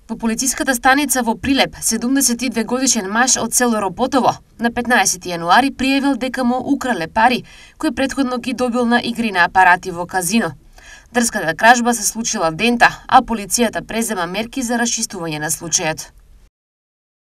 Во полициската станица во Прилеп, 72 годишен маж од село Роботово на 15 јануари пријавил дека му украле пари кои претходно ги добил на игри на апарати во казино. Дрската кражба се случила дента, а полицијата презема мерки за расчистување на случајот.